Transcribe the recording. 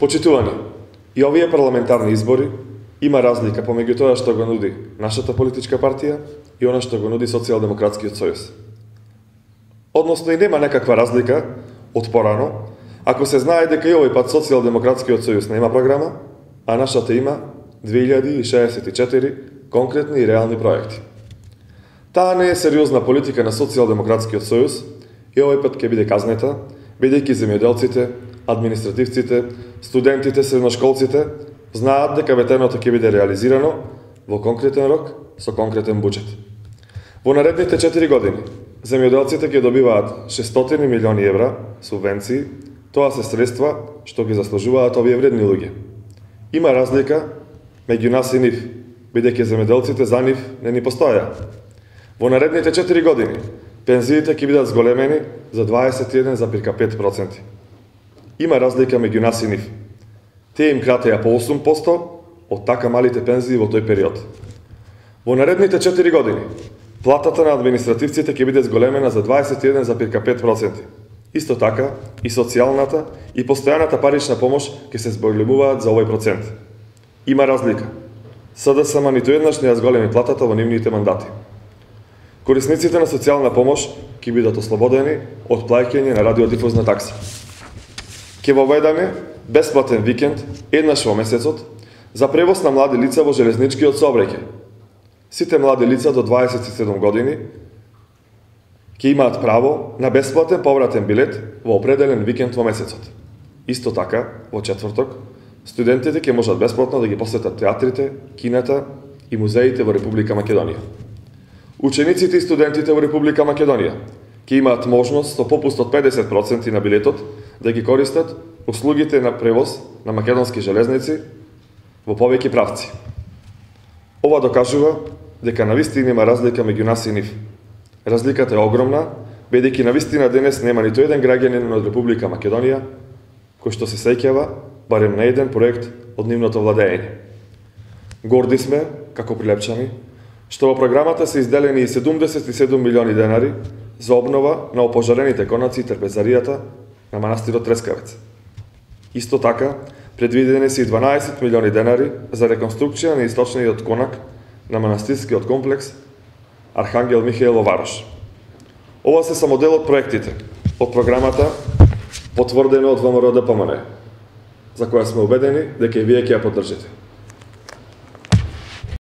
Почитувани, и овие парламентарни избори има разлика помеѓу тоа што го нуди нашата политичка партија и она што го нуди Социјалдемократскиот сојуз. Односно и нема некаква разлика од порано, ако се знае дека и овој пат Социјалдемократскиот сојуз нема програма, а нашата има 2064 конкретни и реални проекти. Таа не е сериозна политика на Социјалдемократскиот сојуз и овој пат ќе биде казнета, бидејќи земјоделците, административците, студентите, средношколците знаат дека ветеното ќе биде реализирано во конкретен рок со конкретен буџет. Во наредните 4 години земјоделците ќе добиваат 600 милиони евра субвенции, тоа се средства што ги заслужуваат овие вредни луѓе. Има разлика меѓу нас и нив, бидејќи земјоделците за нив не ни постоја. Во наредните 4 години пензиите ќе бидат зголемени за 21,5%. Има разлика меѓу нас и нив. Тие им кратеа по 8% од така малите пензии во тој период. Во наредните 4 години платата на административците ќе биде зголемена за 21,5%. Исто така и социјалната и постојаната парична помош ќе се зголемуваат за овој процент. Има разлика. СДСМ ниту еднаш не ја зголеми платата во нивните мандати. Корисниците на социјална помош ќе бидат ослободени од плаќање на радиодифузна такса. Ќе воведаме бесплатен викенд еднаш во месецот за превоз на млади лица во железничкиот сообраќај. Сите млади лица до 27 години ќе имаат право на бесплатен повратен билет во определен викенд во месецот. Исто така, во четврток, студентите ќе можат бесплатно да ги посетат театрите, кината и музеите во Република Македонија. Учениците и студентите во Република Македонија ќе имаат можност со попуст од 50% на билетот да ги користат услугите на превоз на македонски железници во повеќе правци. Ова докажува дека навистина има разлика меѓу нас и нив. Разликата е огромна, бидејќи навистина денес нема ниту еден граѓанин од Република Македонија кој што се сеќава барем на еден проект од нивното владење. Горди сме, како прилепчани, што во програмата се изделени и 77 милиони денари за обнова на опожарените конаци и трпезаријата на манастирот Трескавец. Исто така, предвидени се и 12 милиони денари за реконструкција на источниот конак на манастирскиот комплекс Архангел Михаил во Варош. Ова се само дел од проектите од програмата потврдено од ВМРО ДПМН, за која сме убедени дека и вие ќе ја поддржите.